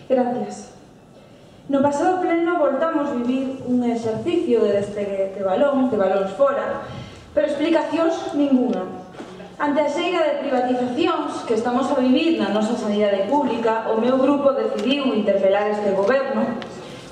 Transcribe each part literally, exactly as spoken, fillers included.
Gracias. No pasado pleno voltamos vivir un exercicio de despegue de balón, de balóns fora, pero explicacións ninguna. Ante a xeira de privatizacións que estamos a vivir na nosa sanidade pública, o meu grupo decidiu interpelar este goberno,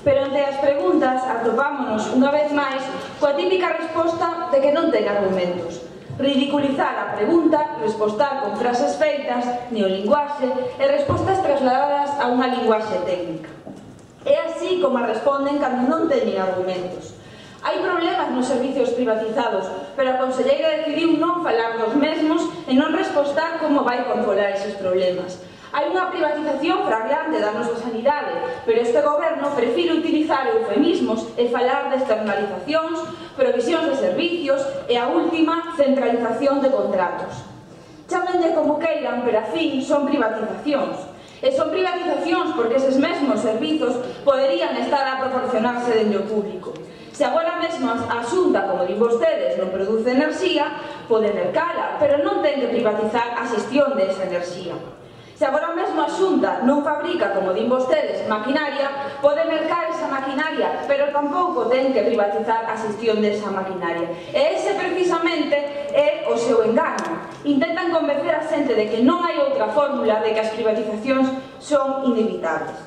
pero ante as preguntas atopámonos unha vez máis coa típica resposta de que non ten argumentos. Ridiculizar a pregunta, respostar con frases feitas, neolinguaxe e respostas trasladadas a unha linguaxe técnica. É así como responden cando non teñen argumentos. Hai problemas nos servicios privatizados, pero a conselleira decidiu non falar dos mesmos e non respostar como vai controlar eses problemas. Hai unha privatización flagrante da nosa sanidade, pero este goberno prefire utilizar eufemismos e falar de externalizacións, provisións de servicios e a última, centralización de contratos. Chámenlle como queiran, pero a fin son privatizacións. E son privatizacións porque eses mesmos servizos poderían estar a proporcionarse dende o público. Se agora mesmo a Xunta, como din vostedes, non produce enerxía, pode mercala, pero non ten que privatizar a xestión desa enerxía. Se agora mesmo a Xunta non fabrica, como din vostedes, maquinaria, pode mercar esa maquinaria, pero tampouco ten que privatizar a xestión desa maquinaria. E ese precisamente é o seu engano. Intentan convencer a xente de que non hai outra fórmula de que as privatizacións son inevitables.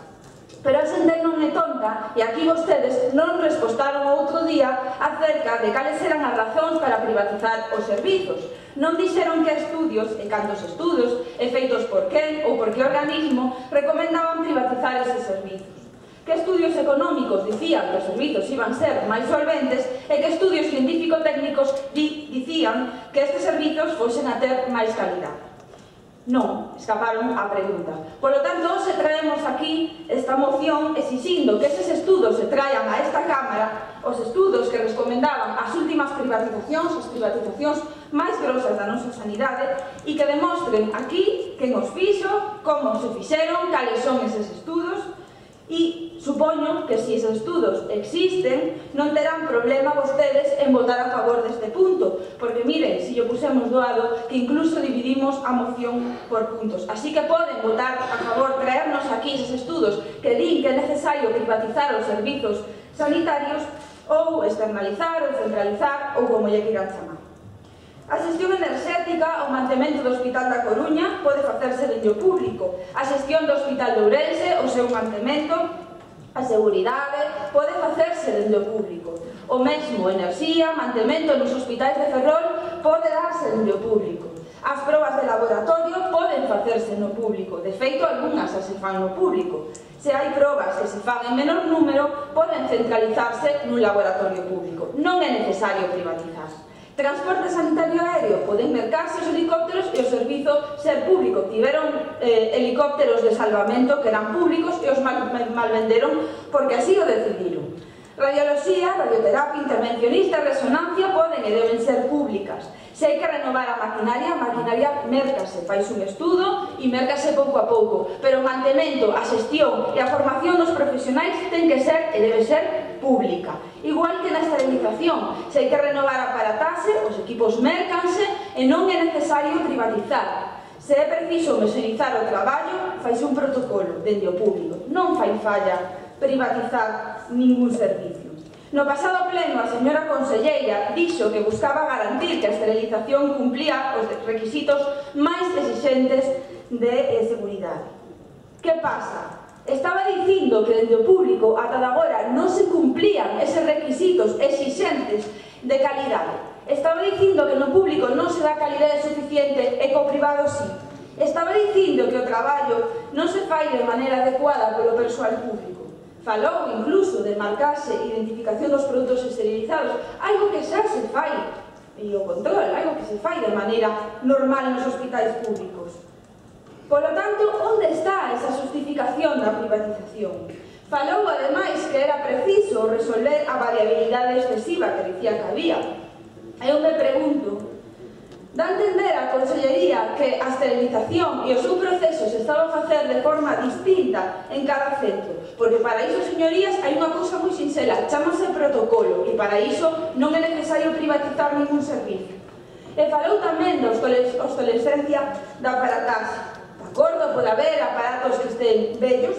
Pero a xente non é tonta e aquí vostedes non respostaron outro día acerca de cales eran as razóns para privatizar os servizos. Non dixeron que estudios e cantos estudos e feitos por quen ou por que organismo recomendaban privatizar eses servizos. Que estudios económicos dicían que os servizos iban ser máis solventes e que estudios científico-técnicos di, dicían que estes servizos fosen a ter máis calidad. Non, escaparon a pregunta. Por lo tanto, hoxe traemos aquí esta moción exixindo que eses estudos se traian a esta Cámara, os estudos que recomendaban as últimas privatizacións, as privatizacións máis grosas da nosa sanidade, e que demostren aquí quen os fixo, como se fixeron, cales son eses estudos. E supoño que se esos estudos existen non terán problema vostedes en votar a favor deste punto, porque miren, se yo pusemos doado que incluso dividimos a moción por puntos, así que poden votar a favor, traernos aquí esos estudos que din que é necesario privatizar os servizos sanitarios ou externalizar ou centralizar ou como lle queiran chamar. A xestión enerxética, o mantemento do Hospital da Coruña pode facerse dende o público. A xestión do Hospital de Ourense, o seu mantemento, a seguridade, pode facerse dende o público. O mesmo enerxía, mantemento nos hospitais de Ferrol pode darse dende o público. As probas de laboratorio poden facerse no público. De feito, algunhas as se fan no público. Se hai probas que se fan en menor número, poden centralizarse nun laboratorio público. Non é necesario privatizar. Transporte sanitario aéreo, poden mercarse os helicópteros e o servizo ser público. Tiveron eh, helicópteros de salvamento que eran públicos e os mal, mal venderon porque así o decidiron. Radioloxía, radioterapia, intervencionista, resonancia poden e deben ser públicas. Se hai que renovar a maquinaria, a maquinaria mércase, fais un estudo e mércase pouco a pouco, pero o mantemento, a xestión e a formación dos profesionais ten que ser e debe ser pública. Igual que na esterilización, se hai que renovar a aparatase, os equipos mércanse e non é necesario privatizar. Se é preciso mesurizar o traballo, faise un protocolo dende o público. Non fai falla privatizar ningún servicio. No pasado pleno, a señora conselleira dixo que buscaba garantir que a esterilización cumplía os requisitos máis exixentes de seguridade. Que pasa? Estaba dicindo que dende o público ata de agora non se cumplían eses requisitos exixentes de calidade. Estaba dicindo que no público non se dá calidade suficiente e co privado sí. Estaba dicindo que o traballo non se fai de maneira adecuada polo persoal público. Falou incluso de marcarse e identificación dos produtos esterilizados, algo que xa se fai, e o control, algo que se fai de maneira normal nos hospitais públicos. Por lo tanto, onde está esa justificación da privatización? Falou, ademais, que era preciso resolver a variabilidade excesiva que dicía que había. Eu me pregunto, dá a entender a Consellería que a esterilización e o seu proceso se estaba a facer de forma distinta en cada centro, porque para iso, señorías, hai unha cousa moi sinxela, chamase protocolo, e para iso non é necesario privatizar ningún servicio. E falou tamén da obsolescencia da aparatase. De acordo, pode haber aparatos que estén vellos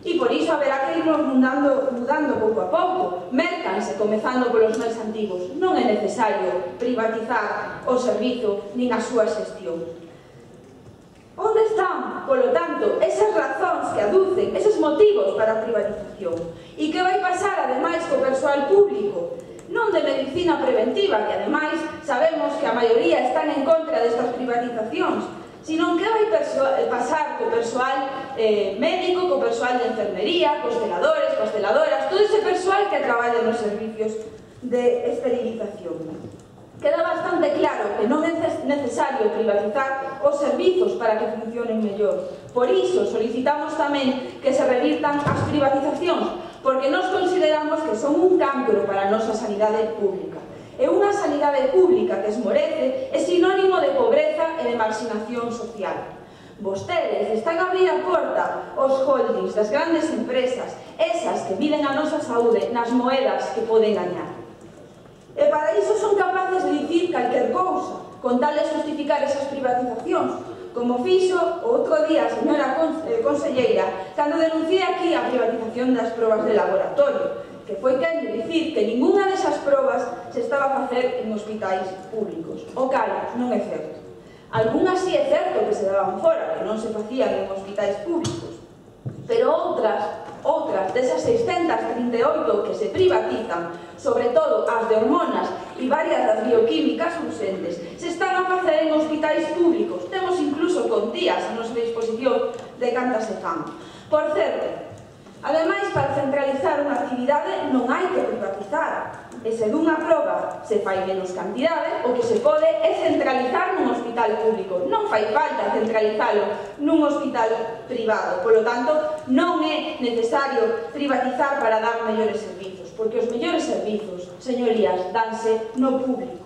E por iso haberá que irnos mudando, mudando pouco a pouco. Mércanse, comezando polos máis antigos. Non é necesario privatizar o servizo nin a súa xestión. Onde están, polo tanto, esas razóns que aducen, eses motivos para a privatización? E que vai pasar, ademais, co persoal público? Non de medicina preventiva, que, ademais, sabemos que a maioría están en contra destas privatizacións, sino que vai pasar co persoal eh, médico, co persoal de enfermería, cos celadores, cos celadoras, todo ese persoal que traballa nos servicios de esterilización. Queda bastante claro que non é necesario privatizar os servizos para que funcionen mellor. Por iso solicitamos tamén que se revirtan as privatizacións, porque nós consideramos que son un cancro para a nosa sanidade pública. E unha sanidade pública que esmorece é sinónimo de pobreza e de marxinación social. Vostedes están a abrir a porta aos holdings das grandes empresas, esas que miden a nosa saúde nas moedas que poden gañar. E para iso son capaces de dicir calquer cousa, con tal de justificar esas privatizacións, como fixo o outro día a señora conselleira cando denunciei aquí a privatización das probas de laboratorio, que foi quen de dicir que ninguna desas probas se estaba a facer en hospitais públicos. O cal non é certo. Algúnas sí é certo que se daban fora, que non se facían en hospitais públicos, pero outras, outras desas seiscentas trinta e oito que se privatizan, sobre todo as de hormonas e varias das bioquímicas urxentes, se están a facer en hospitais públicos. Temos incluso contías a nosa disposición de cantas se fan. Por certo, ademais, para centralizar unha actividade non hai que privatizar. E se dunha proba se fai menos cantidade, o que se pode é centralizar nun hospital público. Non fai falta centralizalo nun hospital privado. Polo tanto, non é necesario privatizar para dar mellores servizos, porque os mellores servizos, señorías, danse no público.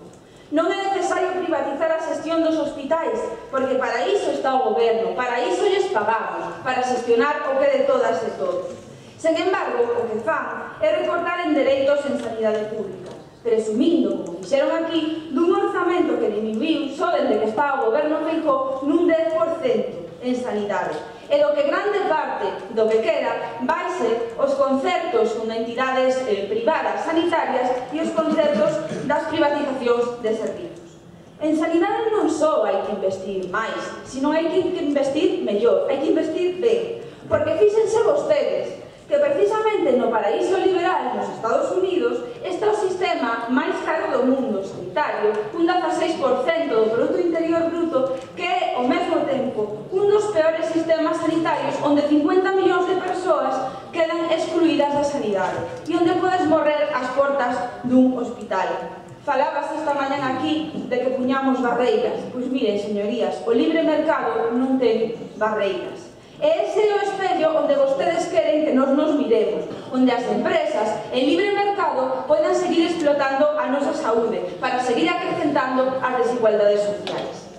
Non é necesario privatizar a xestión dos hospitais, porque para iso está o goberno, para iso lles pagamos, para xestionar o que de todas e todos. Sen embargo, o que fan é recortar en dereitos en sanidade pública, presumindo, como fixeron aquí, dun orzamento que diminuiu só dende que está o goberno Feijóo nun dez por cento en sanidade, e do que grande parte do que queda vai ser os concertos con entidades eh, privadas sanitarias e os concertos das privatizacións de servizos. En sanidade non só hai que investir máis, sino hai que investir mellor, hai que investir ben, porque fíxense vostedes que precisamente no paraíso liberal nos Estados Unidos está o sistema máis caro do mundo sanitario, un dezaseis por cento do Produto Interior Bruto, que é, ao mesmo tempo, un dos peores sistemas sanitarios onde cincuenta millóns de persoas quedan excluídas da sanidade e onde podes morrer ás portas dun hospital. Falabas esta mañán aquí de que puñamos barreiras. Pois miren, señorías, o libre mercado non ten barreiras. E ese é o espello onde vostedes queren que nos nos miremos, onde as empresas en libre mercado poidan seguir explotando a nosa saúde para seguir acrecentando as desigualdades sociais.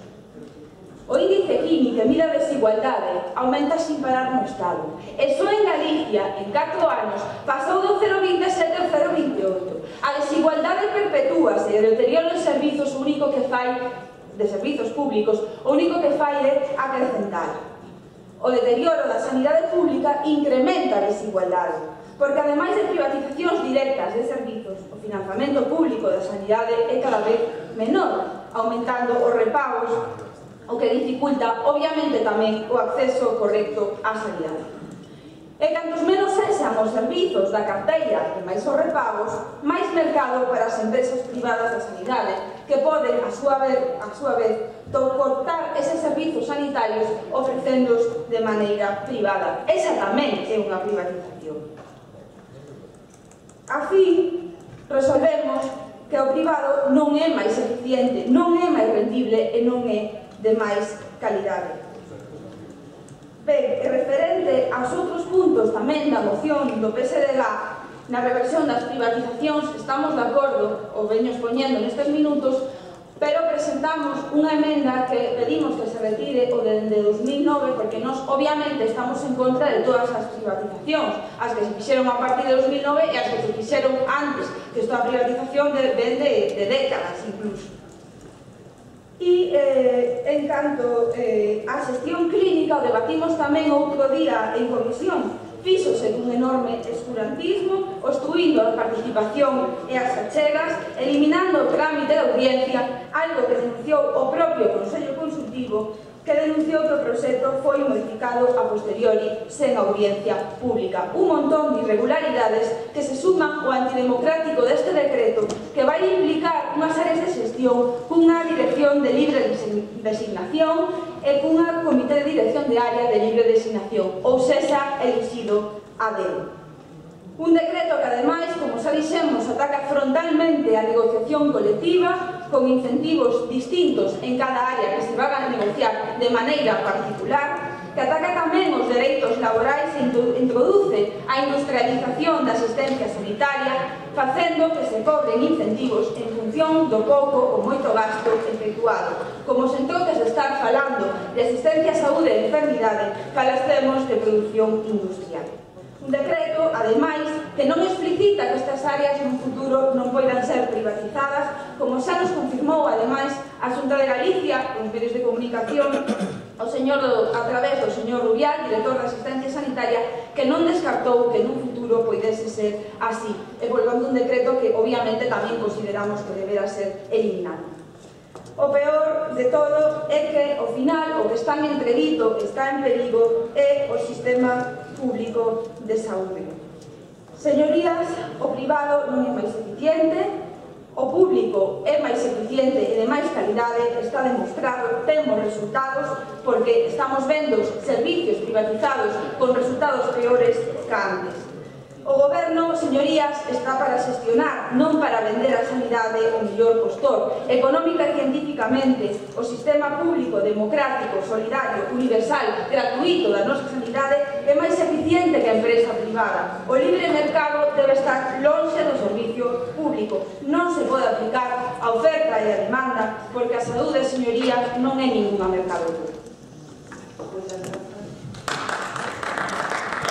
O índice Gini que mira a desigualdade aumenta sin parar no Estado, e só en Galicia, en catro anos, pasou do cero vinte e sete ao cero vinte e oito. A desigualdade perpetúase e o deterioro de servizos único que fai, de servizos públicos, o único que fai é acrecentar. O deterioro da sanidade pública incrementa a desigualdade, porque ademais de privatizacións directas de servizos, o financiamento público da sanidade é cada vez menor, aumentando os repagos, o que dificulta, obviamente, tamén o acceso correcto á sanidade. E cantos menos sexan os servizos da carteira e máis os repagos, máis mercado para as empresas privadas da sanidade, que poden, a súa vez, a súa vez cortar eses servizos sanitarios ofrecéndoos de maneira privada. Esa tamén é unha privatización. A fin, resolvemos que o privado non é máis eficiente, non é máis rendible e non é de máis calidade. Ben, e referente aos outros puntos tamén da moción do P S D G na reversión das privatizacións, estamos de acordo, o veño expoñendo nestes minutos, pero presentamos unha emenda que pedimos que se retire o de dos mil nove, porque nós obviamente estamos en contra de todas as privatizacións, as que se fixeron a partir de dos mil nove e as que se fixeron antes, que esta privatización ven de, de décadas incluso. E, eh, en canto eh, a xestión clínica, o debatimos tamén outro día en comisión, fixose enorme escurantismo, obstruindo a participación e as achegas, eliminando o trámite de audiencia, algo que denunciou o propio Consello Consultivo, que denunciou que o proxecto foi modificado a posteriori sen audiencia pública. Un montón de irregularidades que se suman ao antidemocrático deste decreto, que vai implicar unhas áreas de xestión cunha dirección de libre designación e cunha comité de dirección de área de libre designación, ou sexa, elixido a dedo. Un decreto que, ademais, como xa dixemos, ataca frontalmente a negociación colectiva, con incentivos distintos en cada área que se van a negociar de maneira particular, que ataca tamén os dereitos laborais e introduce a industrialización da asistencia sanitaria, facendo que se cobren incentivos en función do pouco ou moito gasto efectuado. Como se entroques de estar falando de asistencia a saúde e enfermidade, falastemos de produción industrial. Un decreto, ademais, que non explicita que estas áreas no futuro non poidan ser privatizadas, como xa nos confirmou, ademais, a Xunta de Galicia, en medios de comunicación, o señor, a través do señor Rubial, director de Asistencia Sanitaria, que non descartou que nun futuro poidese ser así, e volvando un decreto que, obviamente, tamén consideramos que debera ser eliminado. O peor de todo é que, ao final, o que está en entredido, está en perigo, é o sistema público de saúde. Señorías, o privado non é máis eficiente, o público é máis eficiente e de máis calidade, está demostrado, temos resultados, porque estamos vendo servicios privatizados con resultados peores que antes. O goberno, señorías, está para xestionar, non para vender a sanidade o mellor postor. Económica e científicamente, o sistema público, democrático, solidario, universal, gratuito da nosa sanidade é máis eficiente que a empresa privada. O libre mercado debe estar lonxe do servicio público. Non se pode aplicar a oferta e a demanda, porque a saúde, señorías, non é ninguna mercadoría.